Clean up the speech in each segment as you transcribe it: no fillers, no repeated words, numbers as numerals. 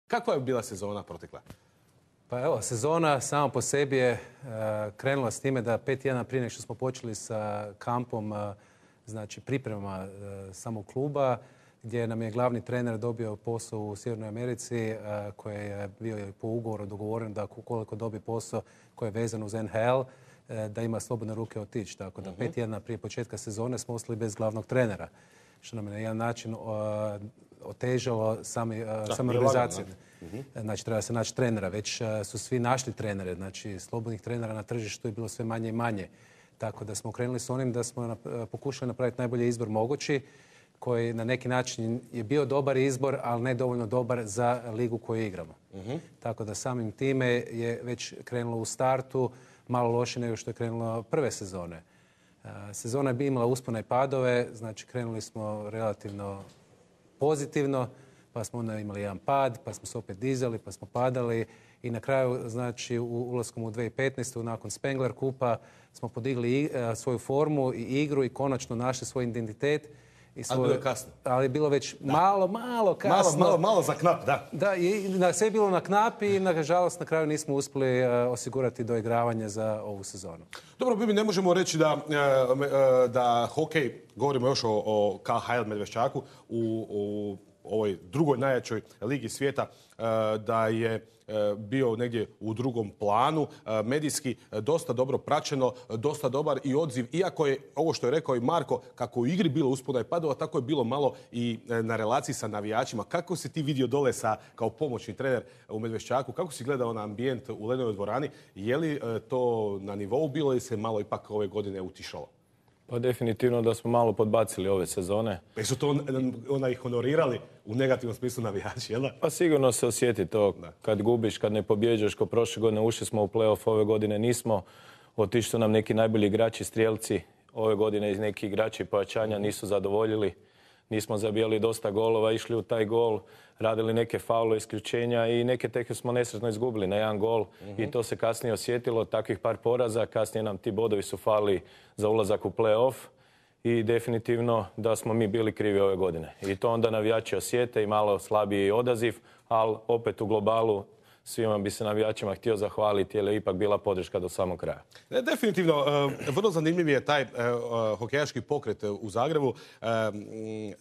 Kakva je bila sezona protekla? Pa evo, sezona sama po sebi je krenula s time da 5 tjedana prije nego što smo počeli sa kampom, znači pripremama samog kluba, gdje nam je glavni trener dobio posao u Sjevernoj Americi, koji je bio po ugovoru dogovoren da koliko dobije posao koji je vezan uz NHL, da ima slobodne ruke otići. Tako da 5 tjedana prije početka sezone smo ostali bez glavnog trenera, što nam je na jedan način otežalo samu organizaciju. Znači, treba se naći trenera. Već su svi našli trenere. Znači, slobodnih trenera na tržištu je bilo sve manje i manje. Tako da smo krenuli s onim da smo pokušali napraviti najbolji izbor mogući, koji na neki način je bio dobar izbor, ali ne dovoljno dobar za ligu koju igramo. Tako da samim time je već krenulo u startu malo loše nego što je krenulo prve sezone. Sezona je imala uspone i padove, znači krenuli smo relativno pozitivno, pa smo onda imali jedan pad, pa smo se opet dizali, pa smo padali i na kraju, znači, ulaskom u 2015. nakon Spengler kupa smo podigli svoju formu i igru i konačno našli svoj identitet. Ali bilo je kasno. Ali je bilo već malo kasno. Malo za knap, da. Da, i sve je bilo na knap i nažalost na kraju nismo uspjeli osigurati doigravanje za ovu sezonu. Dobro, Bibi, ne možemo reći da hokej, govorimo još o KHL Medveščaku, u ovoj drugoj najjačoj ligi svijeta, da je bio negdje u drugom planu, medijski dosta dobro praćeno, dosta dobar i odziv. Iako je ovo što je rekao i Marko, kako u igri bilo uspona i padova, tako je bilo malo i na relaciji sa navijačima. Kako si ti vidio dole kao pomoćni trener u Medveščaku? Kako si gledao na ambijent u Lenovoj dvorani? Je li to na nivou bilo ili se malo ipak ove godine utišalo? Pa definitivno da smo malo podbacili ove sezone. Pa su to ih honorirali u negativnom smislu navijači, jel da? Pa sigurno se osjeti to kad gubiš, kad ne pobjeđaš. Ko prošle godine ušli smo u play-off, ove godine nismo. Otišli su nam neki najbolji igrači, strijelci. Ove godine iz neki igrači pojačanja nisu zadovoljili. Nismo zabijali dosta golova, išli u taj gol, radili neke faule, isključenja i neke teke smo nesretno izgubili na jedan gol. I to se kasnije osjetilo, takvih par poraza. Kasnije nam ti bodovi su fali za ulazak u play-off i definitivno da smo mi bili krivi ove godine. I to onda navijači osjete i malo slabiji odaziv, ali opet u globalu svima bi se navijačima htio zahvaliti jer je ipak bila podrška do samog kraja. Definitivno, vrlo zanimljiv je taj hokejaški pokret u Zagrebu.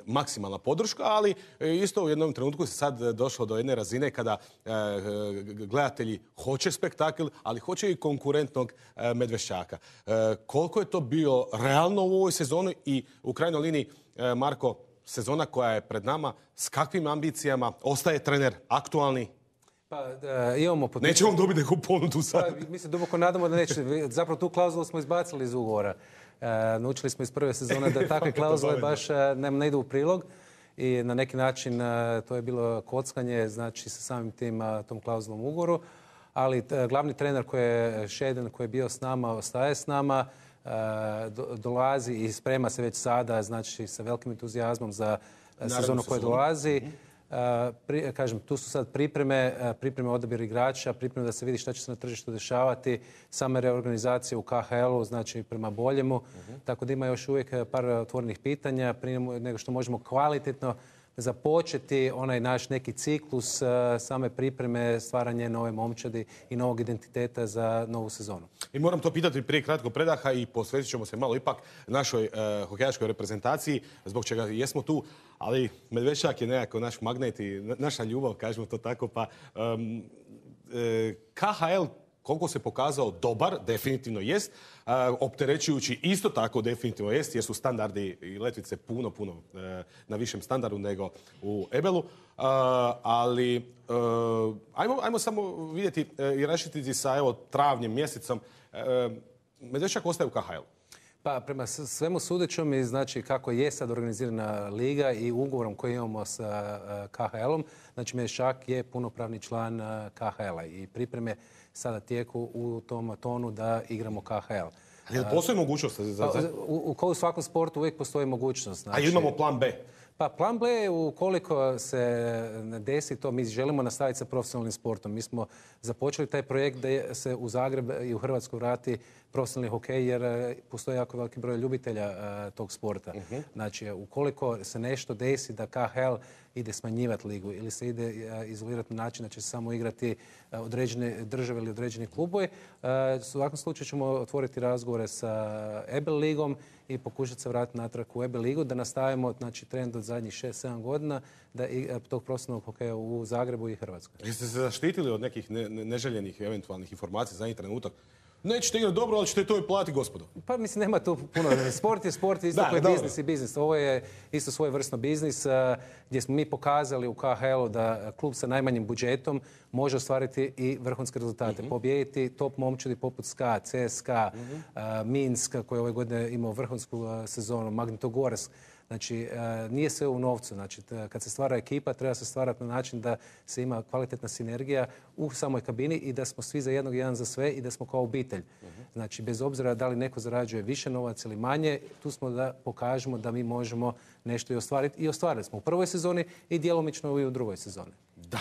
Maksimalna podrška, ali isto u jednom trenutku se sad došlo do jedne razine kada gledatelji hoće spektakl, ali hoće i konkurentnog Medveščaka. Koliko je to bilo realno u ovoj sezoni i u krajnjoj liniji, Marko, sezona koja je pred nama, s kakvim ambicijama ostaje trener aktualni? Pa, imamo neće on dobiti neku ponudu sad. Pa, mi se duboko nadamo da neće. Zapravo tu klauzulu smo izbacili iz ugovora. Naučili smo iz prve sezone da takve klauzule baš ne idu u prilog. I na neki način to je bilo kockanje, znači sa samim tom klauzulom u ugovoru. Ali glavni trener koji je Šeden, koji je bio s nama, ostaje s nama. Dolazi i sprema se već sada, znači sa velikim entuzijazmom za sezonu koja dolazi. Kažem, tu su sad pripreme odabir igrača, pripreme da se vidi šta će se na tržištu dešavati, same reorganizacije u KHL-u, znači prema boljemu. Tako da ima još uvijek par otvorenih pitanja prije nego što možemo kvalitetno započeti onaj naš neki ciklus same pripreme, stvaranje nove momčadi i novog identiteta za novu sezonu. I moram to pitati prije kratkog predaha i posvetit ćemo se malo ipak našoj hokejaškoj reprezentaciji, zbog čega jesmo tu, ali Medveščak je nekako naš magnet i naša ljubav, kažemo to tako, pa KHL koliko se pokazao dobar, definitivno jest, opterećujući isto tako definitivno jest, jer su standardi i letvice puno na višem standardu nego u Ebelu, ali ajmo samo vidjeti i raščititi sa travnjem mjesecom. Medveščak ostaje u KHL. Pa prema svemu sudećom i znači kako je sad organizirana liga i ugovorom koji imamo sa KHL-om, znači Medveščak je punopravni član KHL-a i pripreme sada tijeku u tom tonu da igramo KHL. Ali postoji mogućnost? U svakom sportu uvijek postoji mogućnost. Znači, a imamo plan B? Pa plan B je ukoliko se ne desi to, mi želimo nastaviti sa profesionalnim sportom. Mi smo započeli taj projekt da se u Zagreb i u Hrvatsku vrati profesionalni hokej jer postoji jako veliki broj ljubitelja tog sporta. Znači, ukoliko se nešto desi da KHL ide smanjivati ligu ili se ide izolirati na način da će se samo igrati određene države ili određeni klubovi. U svakom slučaju ćemo otvoriti razgovore sa EBEL ligom i pokušati se vratiti natrag u EBEL ligu, da nastavimo znači, trend od zadnjih 6-7 godina tog profesionalnog hokeja u Zagrebu i Hrvatskoj. Jeste se zaštitili od nekih neželjenih eventualnih informacija za zadnji trenutak? Nećete igrati dobro, ali ćete to i platiti, gospodo. Pa mislim, nema tu puno. Sport je sport, isto koji je biznis i biznis. Ovo je isto svojevrsno biznis gdje smo mi pokazali u KHL-u da klub sa najmanjim budžetom može ostvariti i vrhunske rezultate. Pobijediti top momčadi poput SKA, CSKA, Minsk koji je ove godine imao vrhunsku sezonu, Magnitogorsk. Znači, nije sve u novcu. Znači, kad se stvara ekipa, treba se stvarati na način da se ima kvalitetna sinergija u samoj kabini i da smo svi za jednog, jedan za sve i da smo kao obitelj. Znači, bez obzira da li neko zarađuje više novaca ili manje, tu smo da pokažemo da mi možemo nešto i ostvariti. I ostvarili smo u prvoj sezoni i djelomično i u drugoj sezoni. Da.